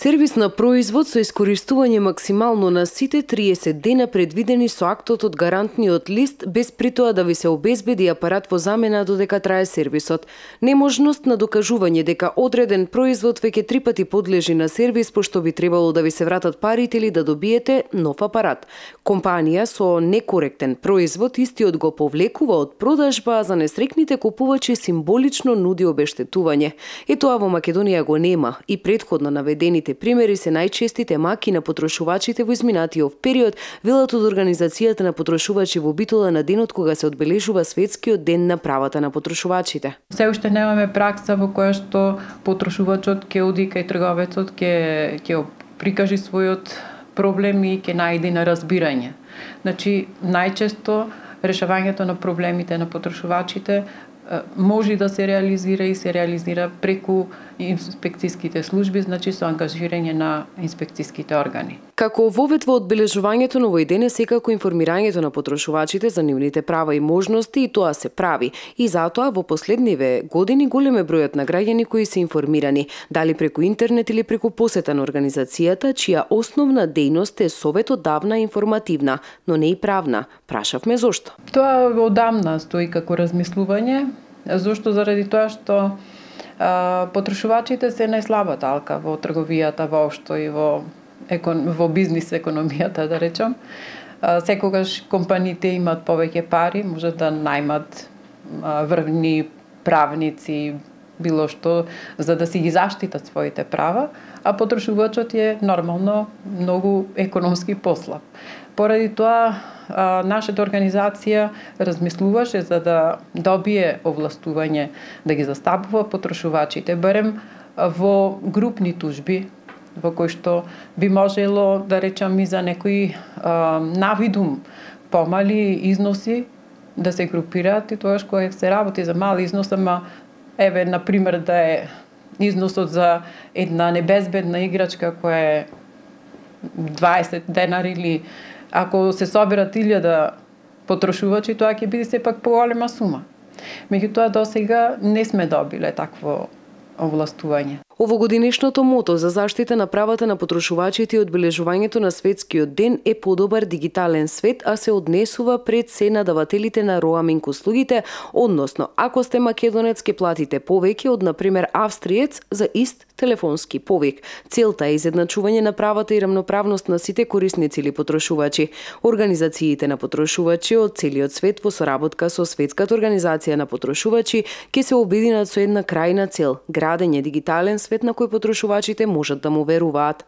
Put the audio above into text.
Сервис на производ со искористување максимално на сите 30 дена предвидени со актот од гарантниот лист, без при тоа да ви се обезбеди апарат во замена додека трае сервисот. Неможност на докажување дека одреден производ веќе 3 пати подлежи на сервис, пошто би требало да ви се вратат парите или да добиете нов апарат. Компанија со некоректен производ истиот го повлекува од продажба, а за несрекните купувачи символично нуди обештетување. И тоа во Македонија го нема и претходно наведените примери се најчестите маки на потрошувачите во изминатиот период, велат од Организацијата на потрошувачи во Битола на денот кога се одбележува Светскиот ден на правата на потрошувачите. Се уште немаме пракса во која што потрошувачот ќе оди кај трговецот, ќе прикажи својот проблем и ќе најде на разбирање. Значи, најчесто решавањето на проблемите на потрошувачите може да се реализира преку инспекцијските служби, значи со ангажирање на инспекцијските органи. Како вовед во одбележувањето на овој ден е секако информирањето на потрошувачите за нивните права и можности, и тоа се прави. И затоа во последниве години голем е бројот на граѓани кои се информирани, дали преку интернет или преку посета на организацијата, чија основна дејност е советодавна и информативна, но не и правна. Прашавме зошто. Тоа одамна стои како размислување, зошто заради тоа што потрошувачите се најслаба талка во трговијата воопшто и во бизнис економијата, да речам. Секогаш компаниите имат повеќе пари, може да најмат врвни правници, било што, за да си ги заштитат своите права, а потрошувачот е нормално многу економски послаб. Поради тоа, нашата организација размислуваше за да добие овластување да ги застапува потрошувачите, барем во групни тужби, во кои што би можело, да речам, и за некои навидум помали износи да се групираат, и тоа кога се работи за мал износ, ама еве, например, да е износот за една небезбедна играчка која е 20 денари, или ако се соберат 1000 потрошувачи, тоа ќе биде сепак поголема сума. Меѓутоа, досега не сме добиле такво овластување. Овогодинешното мото за заштита на правата на потрошувачите и одбележувањето на Светскиот ден е подобар дигитален свет, а се однесува пред се надавателите на роаминг услугите, односно, ако сте македонец ќе платите повеќе од, например, австриец за ист телефонски повик. Целта е изедначување на правата и рамноправност на сите корисници или потрошувачи. Организациите на потрошувачи од целиот свет во соработка со Светската организација на потрошувачи ќе се обединат со една крајна цел – градење дигитален свет на кој потрошувачите можат да му веруваат.